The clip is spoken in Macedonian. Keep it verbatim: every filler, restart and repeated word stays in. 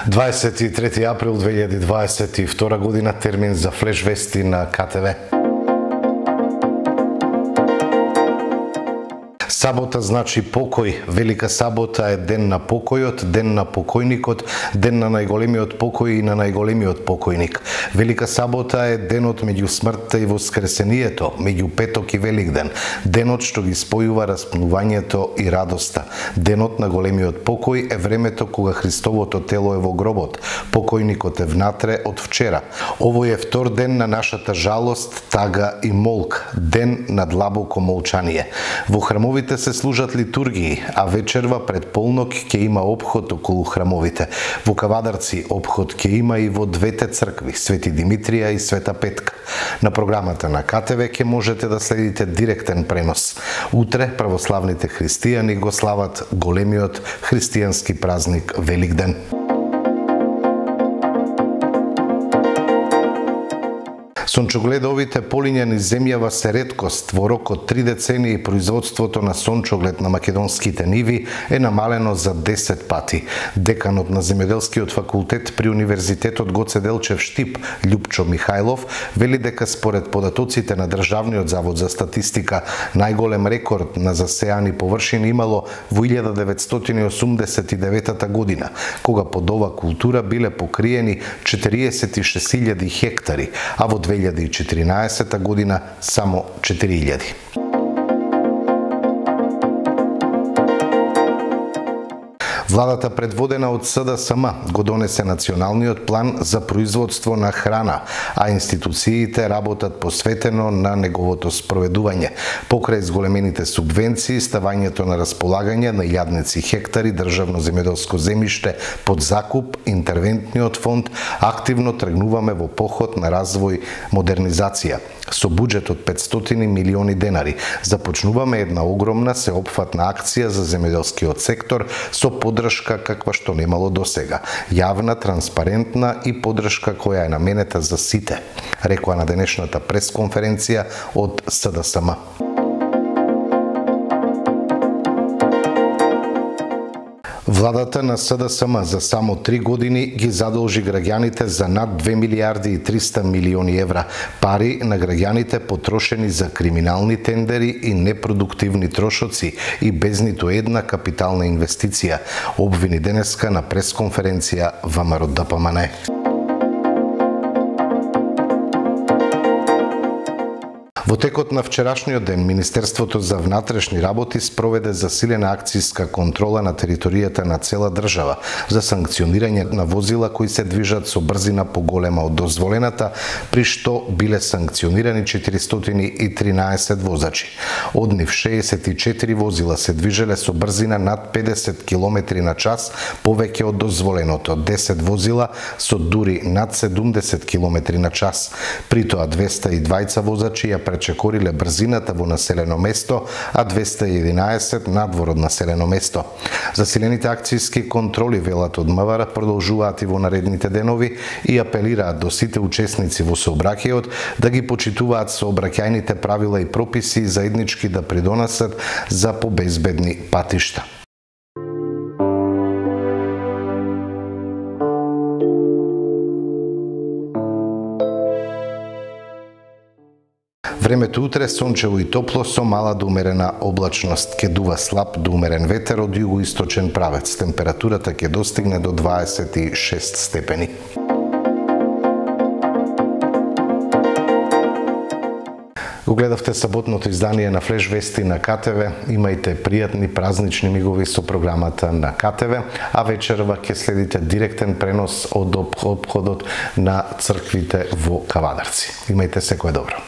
дваесет и трети април две илјади дваесет и втора година, термин за флеш вести на КТВ. Сабота значи покој. Велика сабота е ден на покојот, ден на покојникот, ден на најголемиот покој и на најголемиот покојник. Велика сабота е денот меѓу смртта и воскресението, меѓу петок и Великден, денот што ги спојува распнувањето и радоста. Денот на големиот покој е времето кога Христовото тело е во гробот, покојникот е внатре од вчера. Овој е втор ден на нашата жалост, тага и молк, ден на длабоко молчание. Во храмовите се служат литургии, а вечерва пред полнок ќе има опход околу храмовите. Во Кавадарци опход ќе има и во двете цркви, Свети Димитрија и Света Петка. На програмата на КТВ ќе можете да следите директен пренос. Утре православните христијани го слават големиот христијански празник Великден. Сончогледовите полињани земјава се реткост. Во рок од три децении производството на сончоглед на македонските ниви е намалено за десет пати. Деканот на земјоделскиот факултет при Универзитетот Гоце Делчев Штип, Љупчо Михајлов, вели дека според податоците на Државниот завод за статистика, најголем рекорд на засеани површини имало во илјада деветстотини осумдесет и девета година, кога под ова култура биле покриени четириесет и шест илјади хектари, а во две илјади и четиринаесета година само четири илјади. Владата предводена од СДСМ го донесе националниот план за производство на храна, а институциите работат посветено на неговото спроведување. Покрај зголемените субвенции, ставањето на располагање на илјадници хектари државно земјоделско земјиште под закуп, интервентниот фонд, активно тргнуваме во поход на развој, модернизација. Со буџет од петстотини милиони денари започнуваме една огромна сеопфатна акција за земјоделскиот сектор со поддршка каква што немало досега. Јавна, транспарентна и поддршка која е наменета за сите, рекоа на денешната пресконференција од СДСМ. Владата на СДСМ за само три години ги задолжи граѓаните за над две милијарди и триста милиони евра, пари на граѓаните потрошени за криминални тендери и непродуктивни трошоци и без ниту една капитална инвестиција, обвини денеска на пресконференција ВМРО Д П М Н. Во текот на вчерашниот ден, Министерството за внатрешни работи спроведе засилена акцијска контрола на територијата на цела држава за санкционирање на возила кои се движат со брзина поголема од дозволената, при што биле санкционирани четиристотини и тринаесет возачи. Од нив шеесет и четири возила се движеле со брзина над педесет километри на час повеќе од дозволеното, десет возила со дури над седумдесет километри на час. При тоа двеста и дваесет возачи ја пречекориле брзината во населено место, а двеста и единаесет надвор од населено место. Засилените акцијски контроли, велат од МВР, продолжуваат и во наредните денови и апелираат до сите учесници во сообраќајот да ги почитуваат сообраќајните правила и прописи и заеднички да придонесат за побезбедни патишта. Времето утре сончево и топло со мала до умерена облачност. Ке дува слаб до умерен ветер од југоисточен правец. Температурата ќе достигне до дваесет и шест степени. Го гледавте саботното издание на Флеш Вести на КТВ. Имајте пријатни празнични мигови со програмата на КТВ, а вечерва ќе следите директен пренос од опходот на црквите во Кавадарци. Имајте секое добро.